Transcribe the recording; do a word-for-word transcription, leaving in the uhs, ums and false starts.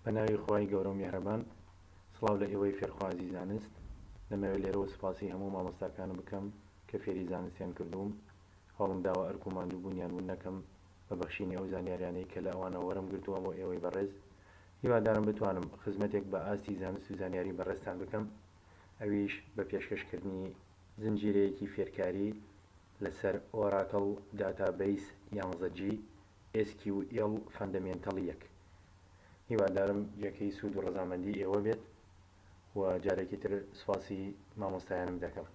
بە ناوی خوای گەورە و میهرەبان. سڵاو لە ئێوەی فێرخوازی زانست. دەمەوێت لێرەوە سوپاسی هەموو مامۆستاکانم بکەم کە فێری زانستیان کردووم. هەوڵم داوە ئەرک و ماندووبوونیان ون نەکەم بە بەخشینی ئەو زانیاریانەی کە لە ئەوانەوە وەرم گرتووە بۆ ئێوەی بەڕێز. هیوادارم بتوانم خزمەتێک بە ئاستی زانست و زانیاری بەڕێزتان بکەم، ئەویش بە پێشکەشکردنی زنجیرەیەکی فێرکاری لەسەر Oracle Database یانزە G SQL Fundamental یەک. هیوادارم جێگەی سوود و ڕەزامەندی ئێوە بێت و جارێکی تر سوپاسی مامۆستایانم دەکەم.